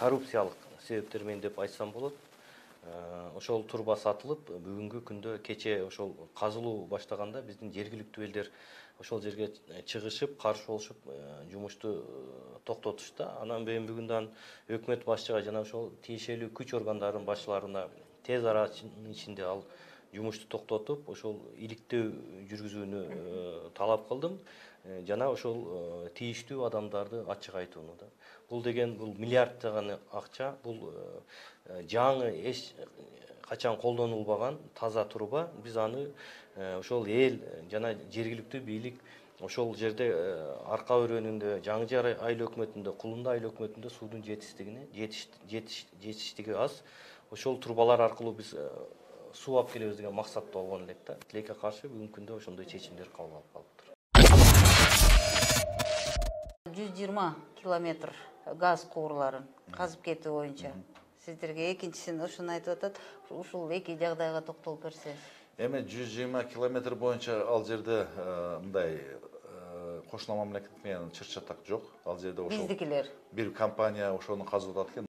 коррупциялык себептер менен деп айтсам болот. Ошол турба сатылып, бүгүнкү күндө кече ошол казылуу баштаганда биздин жергиликтүү элдер ошол жерге чыгышып, каршы болушуп, жумушту токтотушту. Анан бүгүндан өкмөт башчыга жана ошол тиешелүү күч органдарынын башчыларына тез аранын ичинде ал жумушту токтотуп, ошол иликтөө жүргүзүүнү талап кылдым. Жана ошол тийиштүү адамдарды ачык айтууну да. Бул деген бул миллиарддаган акча, бул жаңы эч качан колдонулбаган таза труба. Биз аны ошол эл жана жергиликтүү бийлик ошол жерде Арка өрөөнүндө, Жаңы айыл өкмөтүндө, Кулунда айыл өкмөтүндө суудун жетиштиги аз. Ошол турбалар аркылуу биз суу алып келебиз деген максатта болгон элек да. Тилекке каршы бүгүнкү күндө ошондой чечимдер кабыл алып калыптыр. 120 километр газ куурларын казып кетүү боюнча сиздерге экинчисин ушуну айтып атат. Ушул эки жагдайга токтолуп берсеңиз. Эми 120 километр боюнча ал жерде мындай кошуна мамлекет менен чыр-чатак жок. Ал жерде ошол биздикилер бир компания ошону казып атат экен.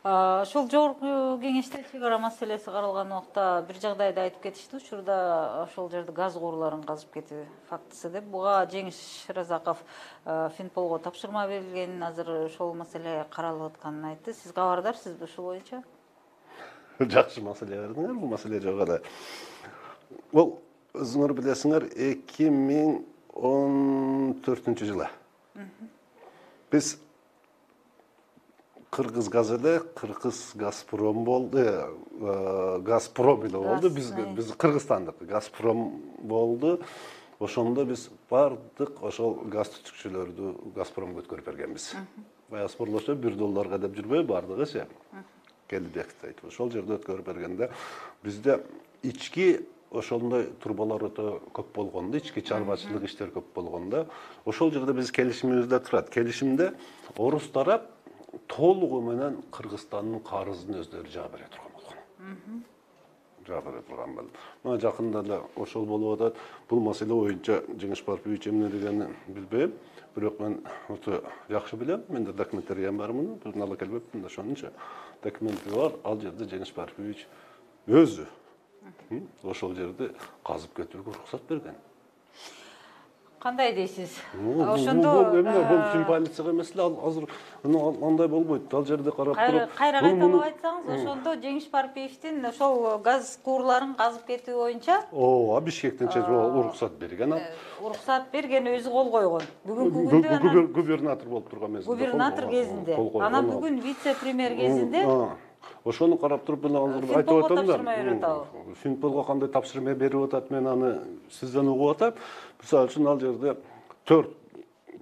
Ошол жогорку кеңеште чек ара маселеси каралган убакта бир жагдайды айтып кетишти. Учурда ошол жерде газ куурларын казып кетүү фактысы деп. Буга Жеңиш Разаков Финполго тапшырма берилгенин, азыр ошол маселе каралып атканын айтты. Сиз кабардарсызбы ушул боюнча? Жакшы маселе бердиңер, бул маселе жок эле. Бул өзүңөр билесиңер 2014-жылы биз Кыргыз газ эле, Кыргыз Газпром болду, Газпром эле болду. Биз Кыргызстандык Газпром болду. Ошондо биз бардык ошол газ түтүкчүлөрдү Газпромго өткөрүп бергенбиз. Баягы спорлошо $1 деп жүрбөй бардыгычы. Келбекти айтып ошол жерде өткөрүп бергенде бизде ички ошондой турбалар өтө көп болгондо, ички чарбачылык иштер көп болгондо, ошол жерде биз келишимибизде турат. Келишимде орус тарап толугу менен Кыргызстандын карызын өздөрү жаап бере турган болгон. Жаап бере турган болду. Мына жакында эле ошол болуп атат. Бул маселе боюнча Жеңиш Парпиевич эмне дегенин билбейм, бирок мен өтө жакшы билем. Менде документтер бар муну. Бир ала келбептин да ошончо. Документи бар. Ал жерде Жеңиш Парпиевич өзү ошол жерди казып кетүүгө уруксат берген. Кандай дейсиз? Ошондо бул полицияга эмес эле, азыр андай болбойт. Ал жерде карап туруп. Кайра кайталап айтсаңыз, ошондо Жеңиш Парпиевдин ошол газ куурларын казып кетүү боюнча Бишкектен уруксат берген ал. Уруксат берген, өзү кол койгон. Бүгүнкү күндө губернатор болуп турган мезгилде. Губернатор кезинде. Анан бүгүн вице-премьер кезинде ошону карап туруп мен азыр айтып атам да. Финполго кандай тапшырма берип атат, мен аны сизден угуп атам. Мисалы үчүн ал жерде 4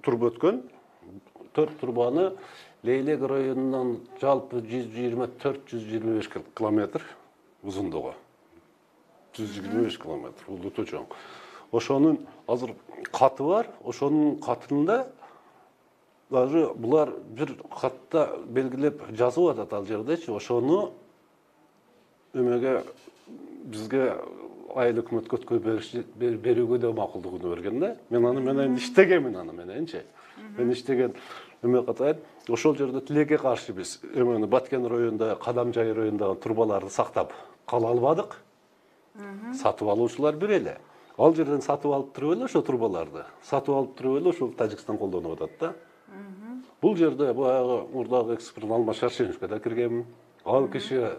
турба өткөн. 4 турбаны Лейлек районунан жалпы 124-125 километр узундугу. 125 километр, бул өтө чоң. Ошонун азыр каты бар, ошонун катында даже булар бир катта белгилеп жазып атат ал жердечи. Ошону эмеге бизге айыл өкмөткө берүүгө да макулдугун берген да. Мен аны менен иштегенмин аны мененчи. Мен иштеген эме катайын. Ошол жерде тилекке каршы биз эмени Баткен районунда, Кадамжай районундагы турбаларды сактап кала албадык. Сатып алуучулар бир эле. Ал жерден сатып алып туруп эле ошо турбаларды. Сатып алып туруп эле ошол Тажикстан колдонуп атат да. Бул жерде баягы мурдагы эксперт Алмаз Шаршеновго да киргенмин. Ал киши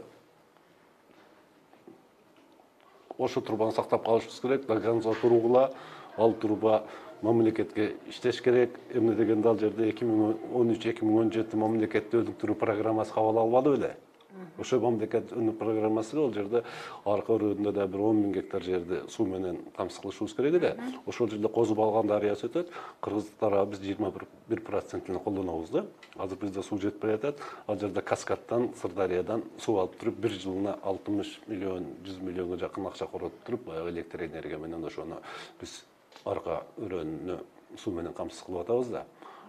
ошо турбаны сактап калышыбыз керек, до конца тургула. Ал турба мамлекетке иштеш керек. Эмне дегенде ал жерде 2013-2017 мамлекеттүүлүктүн программасы кабыл албады беле. Ошо мамлекеттүүлүк программасы ал жерде Арка өрөөнүндө да бир 10 000 гектар жерди суу менен камсыз кылышыбыз керек эле. Ошол жерде Козу Балган дарыясы өтөт. Кыргыз тарабы биз 21% колдонобуз да. Азыр бизде суу жетпей атат. Ал жерде Каскадтан, Сырдарыядан суу алып туруп, бир жылына 60 миллион, 100 миллионго жакын акча коротуп туруп, баягы электр энергия менен ошону биз Арка өрөөнүнө суу менен камсыз кылып атабыз да.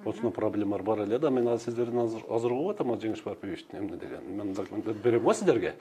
Ошондой проблемалар бар эле да. Мен сиздерден азыр угуп атам Жеңиш Парпиевичтин эмне деген. Мен документтер берем го сиздерге.